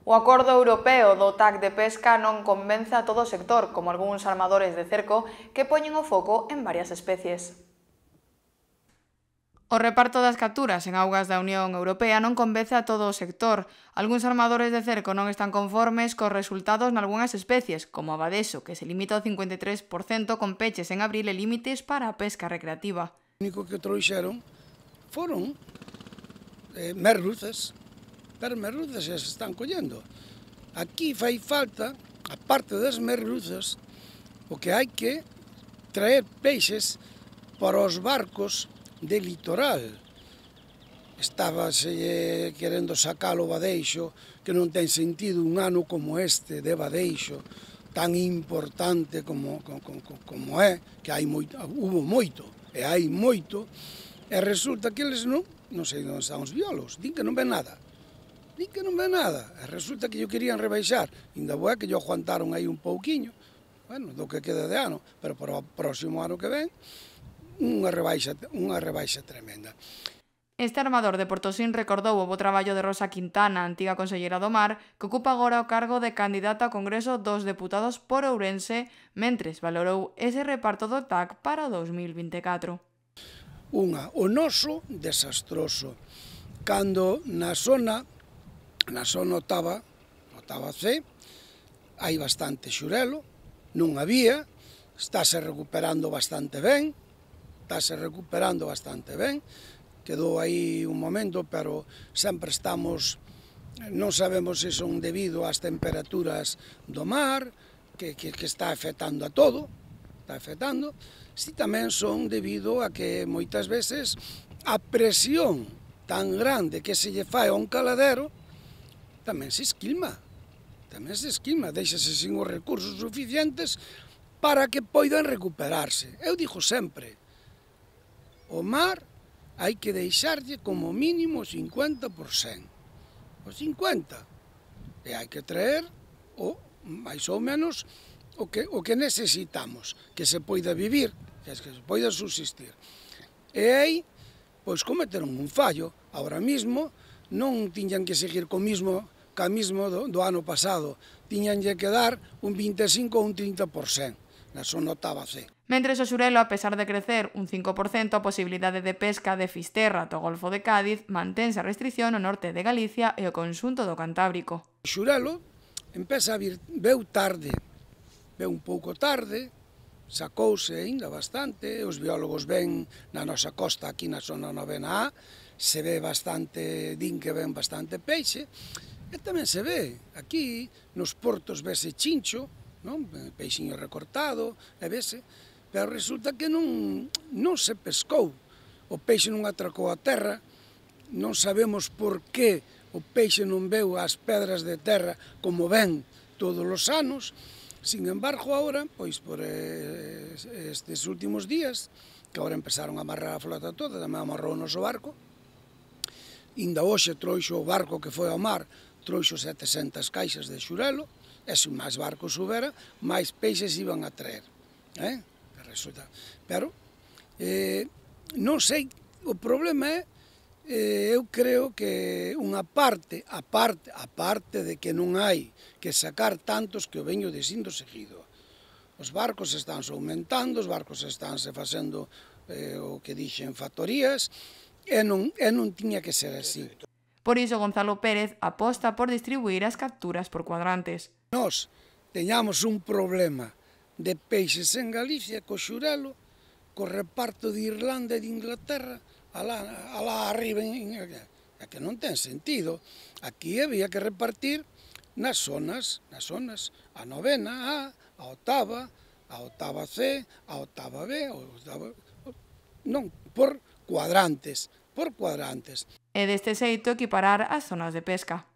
O acordo europeo do TAC de pesca non convence a todo o sector, como algúns armadores de cerco que poñen o foco en varias especies. O reparto das capturas en augas da Unión Europea non convence a todo o sector. Algúns armadores de cerco non están conformes cos resultados nalgúnas especies, como a badexo, que se limita ao 53% con peches en abril e límites para a pesca recreativa. O único que trouxeron foron merluzas, pero merluzas xa se están collendo. Aquí fai falta, a parte das merluzas, o que hai que traer peixes para os barcos de litoral. Estábase querendo sacar o badeixo, que non ten sentido un ano como este de badeixo, tan importante como é, que hubo moito, e hai moito, e resulta que eles non sei onde están os biólogos, din que non ven nada. Din que non ven nada, e resulta que yo querían rebaixar, ainda boa que yo aguantaron aí un pouquiño, bueno, do que queda de ano, pero para o próximo ano que ven, unha rebaixa tremenda. Este armador de Portosín recordou o bo traballo de Rosa Quintana, antiga conselleira do Mar, que ocupa agora o cargo de candidata ao Congreso dos Deputados por Ourense, mentres valorou ese reparto do TAC para o 2024. O noso desastroso, cando na zona octava C, hai bastante xurelo, non había, estáse recuperando bastante ben, quedou aí un momento, pero sempre non sabemos se son debido ás temperaturas do mar, que está afectando a todo, si tamén son debido a que moitas veces a presión tan grande que se lle fai a un caladero tamén se esquilma, deixase sin os recursos suficientes para que poidan recuperarse. Eu digo sempre, o mar hai que deixarlle como mínimo o 50%, o 50%, e hai que traer máis ou menos o que necesitamos, que se poida vivir, que se poida subsistir. E aí, pois cometeron un fallo, ahora mismo non tiñan que seguir co mismo do ano pasado, tiñanlle que dar un 25 ou un 30%, na zona octava C. Mentres o xurelo, a pesar de crecer un 5%, a posibilidade de pesca de Fisterra do Golfo de Cádiz mantense a restrición no norte de Galicia e o conxunto do Cantábrico. O xurelo empeza a vir, veu un pouco tarde, sacouse aínda bastante, os biólogos ven na nosa costa, aquí na zona 9A, se ve bastante, din que ven bastante peixe, e tamén se ve, aquí nos portos vese chincho, peixiño recortado, e vese, pero resulta que non se pescou, o peixe non atracou a terra, non sabemos por que o peixe non veu as pedras de terra como ven todos os anos. Sin embargo, agora, pois por estes últimos días, que agora empezaron a amarrar a flota toda, tamén amarrou o noso barco, ainda hoxe trouxo o barco que foi ao mar, trouxo 700 caixas de xurelo, e se máis barcos subera, máis peixes iban a traer. Pero, non sei, o problema é, eu creo que unha parte, a parte de que non hai que sacar tantos que o veño dicindo seguido. Os barcos estánse aumentando, os barcos estánse facendo o que dixen factorías, e non tiña que ser así. Por iso, Gonzalo Pérez aposta por distribuir as capturas por cuadrantes. Nós teñamos un problema de peixes en Galicia co xurelo, co reparto de Irlanda e de Inglaterra, alá arriba, que non ten sentido. Aquí había que repartir nas zonas, a 9A, a octava C, a octava B, non, por cuadrantes. E deste xeito equiparar as zonas de pesca.